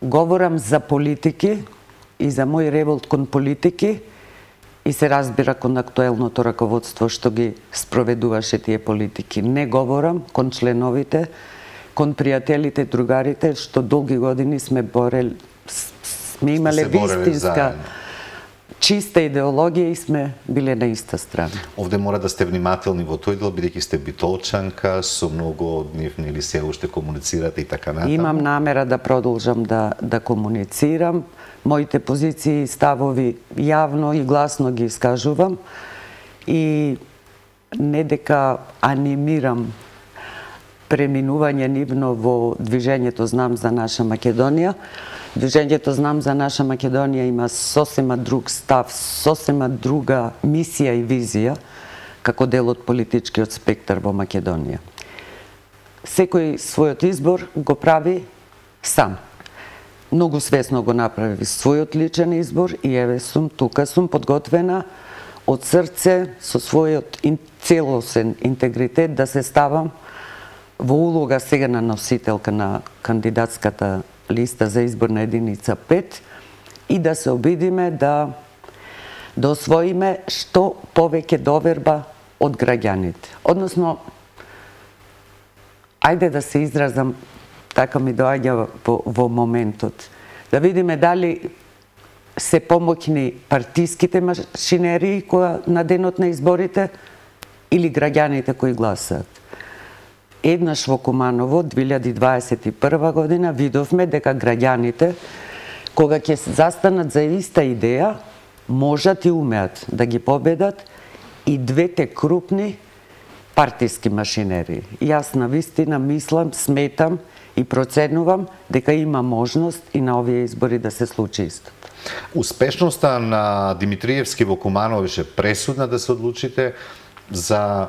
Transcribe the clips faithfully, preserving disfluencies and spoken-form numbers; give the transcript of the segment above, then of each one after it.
говорам за политики и за мој револт кон политики и се разбира кон актуелното раководство што ги спроведуваше тие политики. Не говорам кон членовите, кон пријателите, другарите, што долги години сме борели, сме имале вистинска чиста идеологија и сме биле на иста страна. Овде мора да сте внимателни во тој дел, бидејќи сте битолчанка, со многу од нив нели се уште комуницирате и така натаму. Имам намера да продолжам да да комуницирам. Моите позиции и ставови јавно и гласно ги искажувам и не дека анимирам преминување нивно во движењето Знам за наша Македонија. Движењето Знам за наша Македонија има сосема друг став, сосема друга мисија и визија како дел од политичкиот спектар во Македонија. Секој својот избор го прави сам. Многу свесно го направи својот личен избор и еве сум тука, сум подготвена од срце со својот целосен интегритет да се ставам во улога сега на носителка на кандидатската листа за изборна единица пет и да се обидиме да да освоиме што повеќе доверба од граѓаните. Односно, ајде да се изразам, така ми доаѓа во, во моментот, да видиме дали се помоќни партиските машинерии која на денот на изборите или граѓаните кои гласаат. Еднаш во Куманово, две илјади дваесет и прва година, видовме дека граѓаните, кога ќе застанат за иста идеја, можат и умеат да ги победат и двете крупни партиски машинерии. Јас на вистина мислам, сметам и проценувам дека има можност и на овие избори да се случи исто. Успешноста на Димитриевски во Куманово беше пресудна да се одлучите за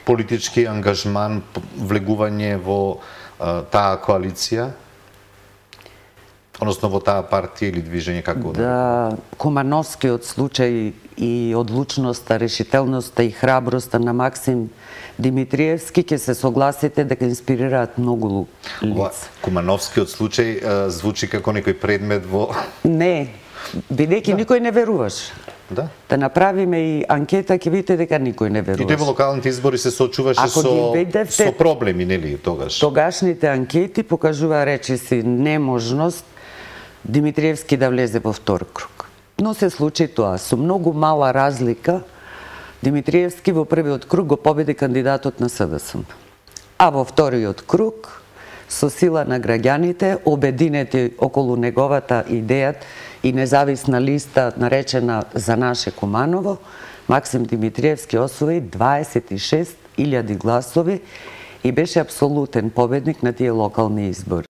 политички ангажман, влегување во а, таа коалиција, односно во таа партија или движење, како да? Кумановскиот случај и одлучноста, решителноста и храброста на Максим Димитриевски ќе се согласите дека инспирираат многу лица. Кумановскиот случај а, звучи како некој предмет во... Не, бидејќи да. Никој не веруваше. Да. Да направиме и анкета, ќе видите дека никој не веруваше. И тој во локалните избори се соочуваше со, видевте, со проблеми, нели, тогаш? Тогашните анкети покажува речиси неможност Димитриевски да влезе во втор круг. Но се случи тоа. Со многу мала разлика, Димитриевски во првиот круг го победи кандидатот на СДСМ. А во вториот круг, со сила на граѓаните, обединети околу неговата идеја и независна листа наречена За наше Куманово, Максим Димитриевски освои дваесет и шест илјади гласови и беше апсолутен победник на тие локални избори.